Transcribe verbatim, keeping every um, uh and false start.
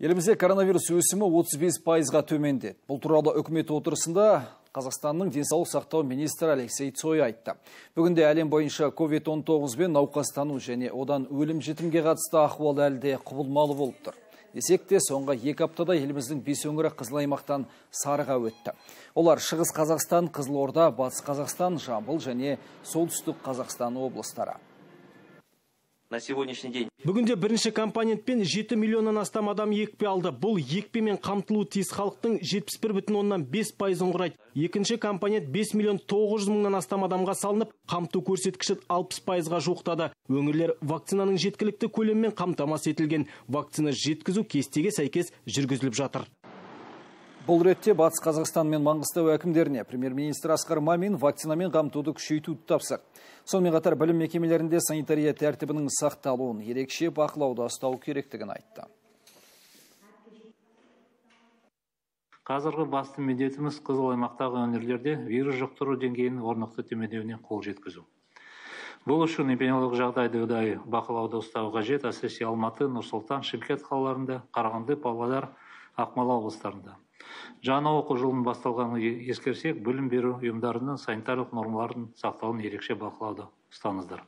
Елімізде коронавирус өсімі отыз бес пайызға төмендеді. Бұл туралы үкімет отырысында Қазақстанның денсаулық сақтау министрі Алексей Цой айтты. Бүгінде әлем бойынша ковид он тоғыз бен науқастану және одан өлім жітімге қатысты ахуал әлі де құбылмалы болып тұр. Десек те, соңғы екі аптада еліміздің бес өңірі қызыл аймақтан сарыға өтті. Олар Шығыс Қазақстан, Қызылорда, Батыс Қазақстан, Жамбыл және Солтүстік Қазақстан облыстары. На сегодняшний день. Бүгінде бірінші компонентпен жеті миллионнан астам адам екпе алды. Бұл екпемен қамтылуы тиіс халықтың жетпіс бір бүтін оннан бес пайызын құрайды. Екінші компонент бес миллион тоғыз жүз мыңнан астам адамға салынып, қамту көрсеткіші алпыс пайызға жуықтады. Өңірлер вакцинаның жеткілікті көлеммен қамтамасыз етілген. Вакцина жеткізу кестеге сәйкес жүргізіліп жатыр. Бұл ретте Батыс Қазақстан мен Маңғыстау әкімдеріне премьер-министр Асқар Мамин вакцинамен қамтуды күшейтуді тапсырды. Сонымен қатар білім мекемелерінде санитария тәртібінің сақталуын ерекше бақылауда ұстау керектігін айтты. Қазіргі басты міндетіміз қызыл аймақтағы өңірлерде вирус жұқтыру деңгейін орнықты төмендеуіне қол жеткізу. Бұл үшін эпидемиологиялық жағдайды ұдайы бақылауда ұстау қажет, әсіресе Алматы, Нұр-Сұлтан, Шымкент қалаларында, Қарағанды, Павлодар, Ақмола облыстарында. Жаңа оқу жылының басталғанын ескерсек, білім беру ұйымдарының санитарлық нормаларын сақтауын ерекше бақылауда ұстаңыздар.